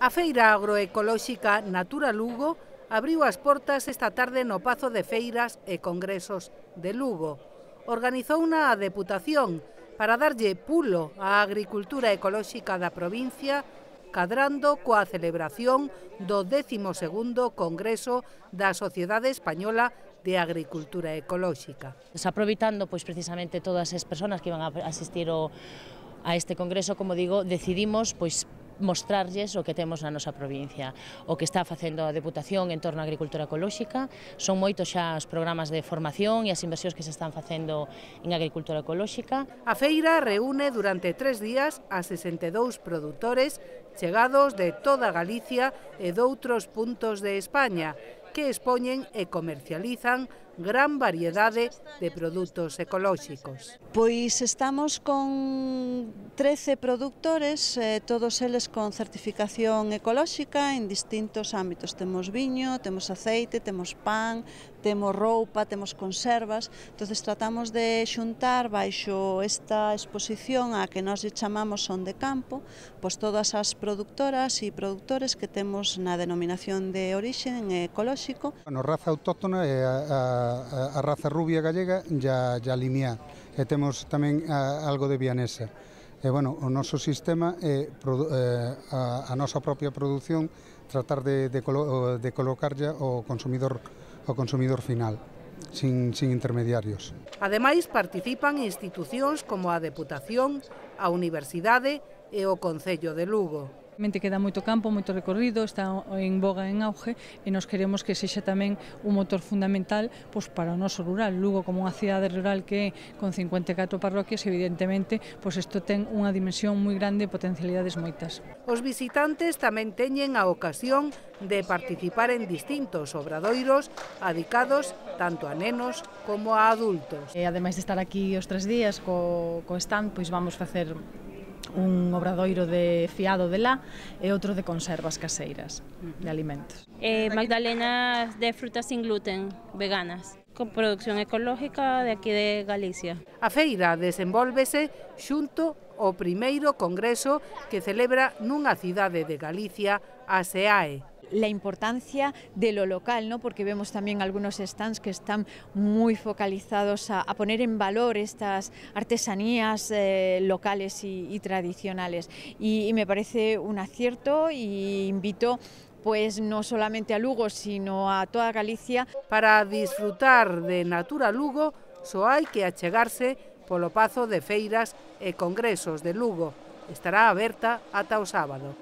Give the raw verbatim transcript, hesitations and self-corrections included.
A feira agroecolóxica Natura Lugo abriu as portas esta tarde no Pazo de Feiras e Congresos de Lugo. Organizouna a Deputación para darlle pulo á agricultura ecolóxica da provincia, cadrando coa celebración do décimo segundo Congreso da Sociedade Española de Agricultura Ecolóxica. Aproveitando pois precisamente todas as persoas que iban a asistir ao, a este congreso, como digo, decidimos pois mostrarlles o que temos na nosa provincia, o que está facendo a Deputación en torno á agricultura ecolóxica. Son moitos xa os programas de formación e as inversións que se están facendo en agricultura ecolóxica. A feira reúne durante tres días a sesenta e dous produtores chegados de toda Galicia e doutros puntos de España, que expoñen e comercializan gran variedade de produtos ecolóxicos. Pois estamos con trece produtores, eh, todos eles con certificación ecolóxica en distintos ámbitos. Temos viño, temos aceite, temos pan, temos roupa, temos conservas. Entonces tratamos de xuntar baixo esta exposición a que nós lle chamamos Son de Campo, pois todas as produtoras e produtores que temos na denominación de orixe ecolóxico. Bueno, raza autóctona é a, a, a raza rubia gallega e a, a limiá, e temos tamén a, algo de vianesa. E, bueno, o noso sistema é a, a nosa propia produción, tratar de, de, colo, de colocarlle ao consumidor, ao consumidor final, sin, sin intermediarios. Ademais, participan institucións como a Deputación, a Universidade e o Concello de Lugo. Queda moito campo, moito recorrido, está en boga, en auge, e nos queremos que sexa tamén un motor fundamental pois, para o noso rural. Lugo, como unha cidade rural que é con cincuenta e catro parroquias, evidentemente, pois isto ten unha dimensión moi grande e potencialidades moitas. Os visitantes tamén teñen a ocasión de participar en distintos obradoiros adicados tanto a nenos como a adultos. E, ademais de estar aquí os tres días co, co stand, pois vamos facer un obradoiro de fiado de lá e outro de conservas caseiras de alimentos. Eh, magdalenas de frutas sin gluten, veganas, con producción ecológica de aquí de Galicia. A feira desenvólvese xunto ao primeiro congreso que celebra nunha cidade de Galicia, a SEAE. La importancia de lo local, ¿no? Porque vemos también algunos stands que están muy focalizados a, a poner en valor estas artesanías eh, locales y, y tradicionales. Y, y me parece un acierto y invito pues no solamente a Lugo, sino a toda Galicia. Para disfrutar de Natura Lugo, só hai que achegarse polo Pazo de Feiras e Congresos de Lugo. Estará aberta ata o sábado.